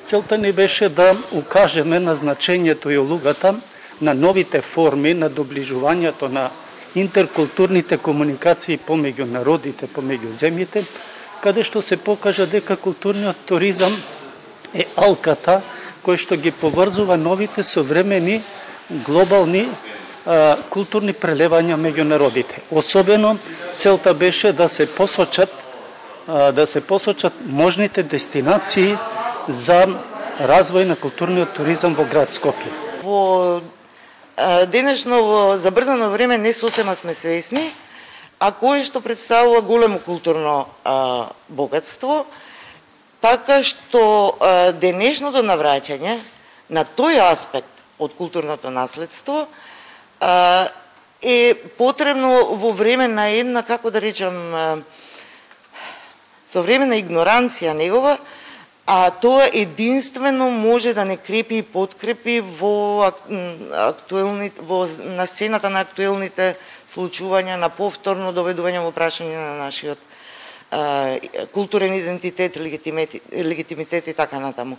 Целта ни беше да укажеме на значењето и улогата на новите форми на доближувањето на интеркултурните комуникации помеѓу народите, помеѓу земјите, каде што се покажа дека културниот туризам е алката кој што ги поврзува новите современи глобални културни прелевања меѓу народите. Особено целта беше да се посочат можните дестинации за развој на културниот туризам во град Скопје. Во денешно во забрзано време не сосема сме свесни, а кое што представува големо културно богатство, така што денешното навраќање на тој аспект од културното наследство е потребно во време на една, како да речам, современа игноранција негова, а тоа единствено може да не крепи и подкрепи на сцената на актуелните случувања, на повторно доведување во прашање на нашиот културен идентитет, легитимитет и така натаму.